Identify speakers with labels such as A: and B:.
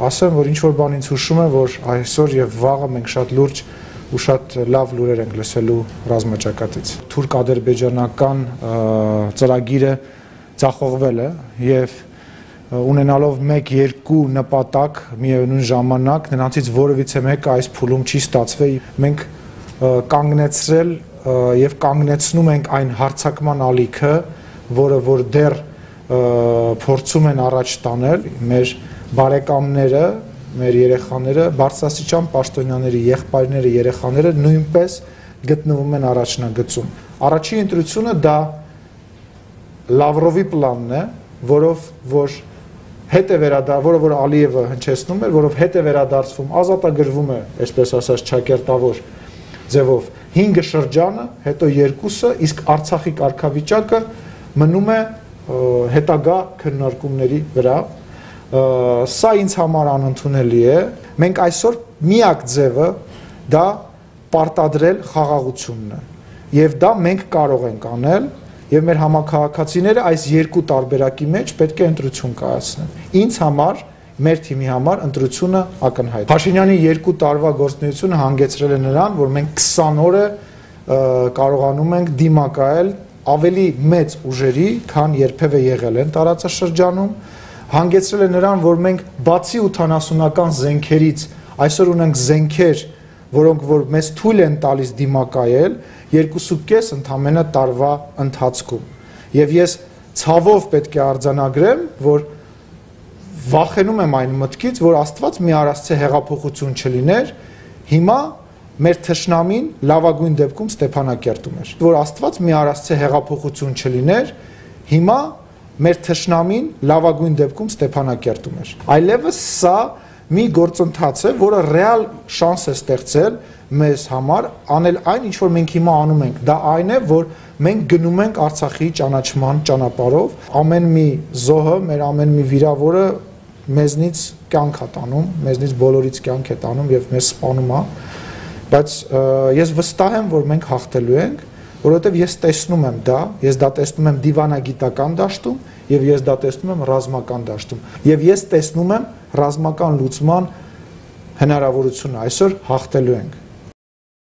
A: ասեմ, որ ինչ-որ բան ինձ հուշում է, որ այսօր եւ վաղը մենք շատ լուրջ ու շատ լավ լուրեր ենք լսելու ռազմաճակատից։ Թուրք-ադրբեջանական ծրագիրը ձախողվել է եւ ունենալով 1-2 նպատակ միևնույն ժամանակ նրանցից որևիցե մեկը այս փուլում չի ստացվել։ Մենք կանգնեցրել եւ կանգնեցնում ենք այն հարձակման ալիքը, որը որ դեռ փորձում են առաջ տանել մեր բարեկամները, մեր երեխաները, բարձրաստիճան պաշտոնյաների եղբայրները, երեխաները նույնպես գտնվում են առաջնագծում։ Առաջին ընտրությունը դա Լավրովի պլանն է, որով որ Ալիևը հնչեցնում էր, որով հետ է վերադարձվում, ազատագրվում է, այսպես ասած, ճակերտավոր ձևով 5 շրջանը, հետո 2-ը, իսկ Արցախի կարգավիճակը մնում է հետագա քննարկումների վրա։ Սա ինձ համար անընդունելի է։ Մենք այսօր միակ ձևը դա պարտադրել խաղաղությունն է։ Եվ դա մենք կարող ենք անել, եւ մեր համակարգացիները այս երկու տարբերակի մեջ պետք է ընտրություն կայացնեն։ Ինձ համար, մեր թիմի համար ընտրությունը ակնհայտ։ Փաշինյանի 2 տարվա գործունեությունը հանգեցրել է նրան, որ մենք 20 օրը կարողանում ենք դիմակայել ավելի մեծ ուժերի, քան երբևէ եղել են տարածաշրջանում, հանգեցրել է նրան, որ մենք բացի 80-ական զենքերից այսօր ունենք զենքեր, որոնք որ մեզ թույլ են տալիս դիմակայել 2.5 ընդամենը տարվա ընթացքում։ Եվ ես ցավով պետք է արձանագրեմ, որ վախենում եմ այն մտքից, որ Աստված մի առասցե հեղափոխություն չլիներ, հիմա մեր թշնամին լավագույն դեպքում Ստեփանակերտում էր։ Որ Աստված մի առասցե հեղափոխություն չլիներ, հիմա մեր թշնամին լավագույն դեպքում Ստեփանակերտում էր։ Այլևս սա մի գործընթաց է, որը ռեալ շանս է ստեղծել մեզ համար անել այն, ինչ որ մենք հիմա անում ենք։ Դա այն է, որ մենք գնում ենք Արցախի ճանաչման ճանապարհով, ամեն մի զոհը, մեր ամեն մի վիրավորը մեզնից կյանք է տանում, մեզնից բոլորից կյանք է տանում եւ մեզ սպանում է, բայց ես վստահ եմ, որ մենք հաղթելու ենք, որովհետեւ ես տեսնում եմ դա, ես դա տեսնում եմ դիվանագիտական դաշտում եւ ես դա տեսնում եմ ռազմական դաշտում եւ ես տեսնում եմ ռազմական լուծման հնարավորությունը այսօր հաղթելու ենք։